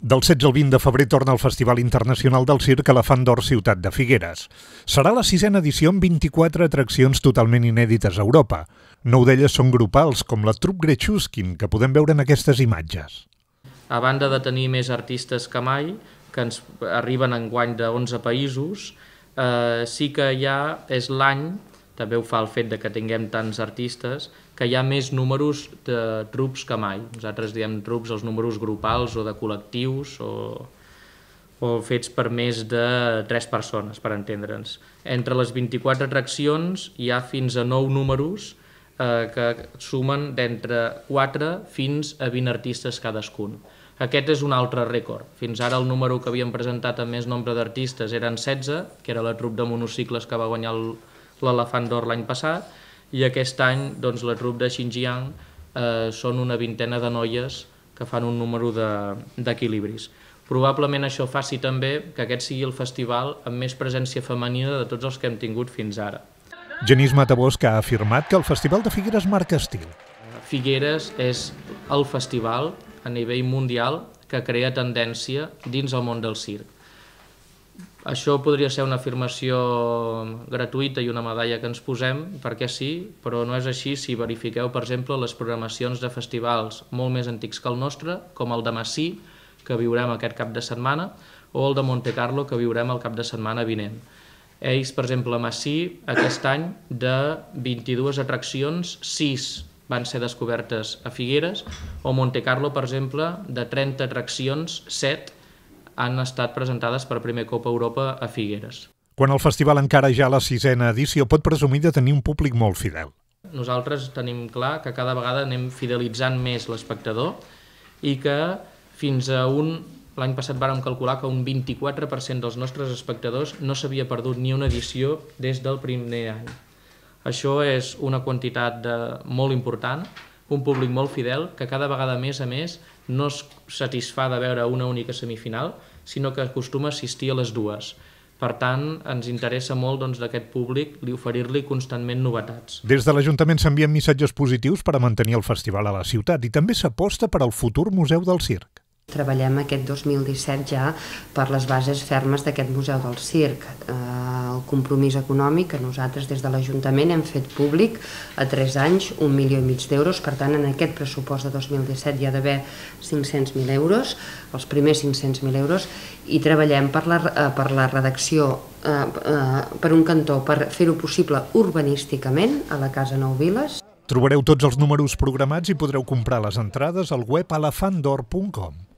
Del 16 al 20 de febrer torna el Festival Internacional del Circ Elefant d'Or Ciutat de Figueres. Serà la 6a edició amb 24 atraccions totalment inèdites a Europa. 9 d'elles són grupals, com la Troupe Grechuskin, que podem veure en aquestes imatges. A banda de tenir més artistes que mai, que ens arriben enguany de 11 països, sí que ja és l'any, també ho fa el fet de que tinguem tants artistes, que hi ha més números de trupes que mai. Nosaltres diem trupes els números grupals o de col·lectius o fets per més de 3 persones, per entendre'ns. Entre les 24 atraccions hi ha fins a 9 números que sumen d'entre 4 fins a 20 artistes cadascun. Aquest és un altre rècord. Fins ara el número que havíem presentat amb més nombre d'artistes eren 16, que era la trup de monocicles que va guanyar l'Elefant d'Or l'any passat, i aquest any doncs, la trup de Xinjiang són una vintena de noies que fan un número d'equilibris. Probablement això faci també que aquest sigui el festival amb més presència femenina de tots els que hem tingut fins ara. Genís Matabosc ha afirmat que el Festival de Figueres marca estil. Figueres és el festival a nivell mundial que crea tendència dins el món del circ. Això podria ser una afirmació gratuïta i una medalla que ens posem, perquè sí, però no és així si verifiqueu, per exemple, les programacions de festivals molt més antics que el nostre, com el de Massí, que viurem aquest cap de setmana, o el de Montecarlo, que viurem el cap de setmana vinent. Ells, per exemple, a Massí, aquest any, de 22 atraccions, 6 van ser descobertes a Figueres, o Montecarlo, per exemple, de 30 atraccions, 7 han estat presentades per primer cop a Europa a Figueres. Quan el festival encara ja a la 6a edició pot presumir de tenir un públic molt fidel. Nosaltres tenim clar que cada vegada anem fidelitzant més l'espectador i que fins a l'any passat vàrem calcular que un 24% dels nostres espectadors no s'havia perdut ni una edició des del primer any. Això és una quantitat molt important, un públic molt fidel que cada vegada més a més no es satisfà de veure una única semifinal, sinó que acostuma a assistir a les dues. Per tant, ens interessa molt d'aquest públic oferir-li constantment novetats. Des de l'Ajuntament s'envien missatges positius per a mantenir el festival a la ciutat i també s'aposta per al futur Museu del Circ. Treballem aquest 2017 ja per les bases fermes d'aquest Museu del Circ. El compromís econòmic que nosaltres des de l'Ajuntament hem fet públic a 3 anys, 1,5 milió d'euros. Per tant, en aquest pressupost de 2017 hi ha d'haver 500.000 euros, els primers 500.000 euros, i treballem per la redacció, per un cantó, per fer-ho possible urbanísticament a la Casa Nou Viles. Trobareu tots els números programats i podreu comprar les entrades al web elefantdor.com.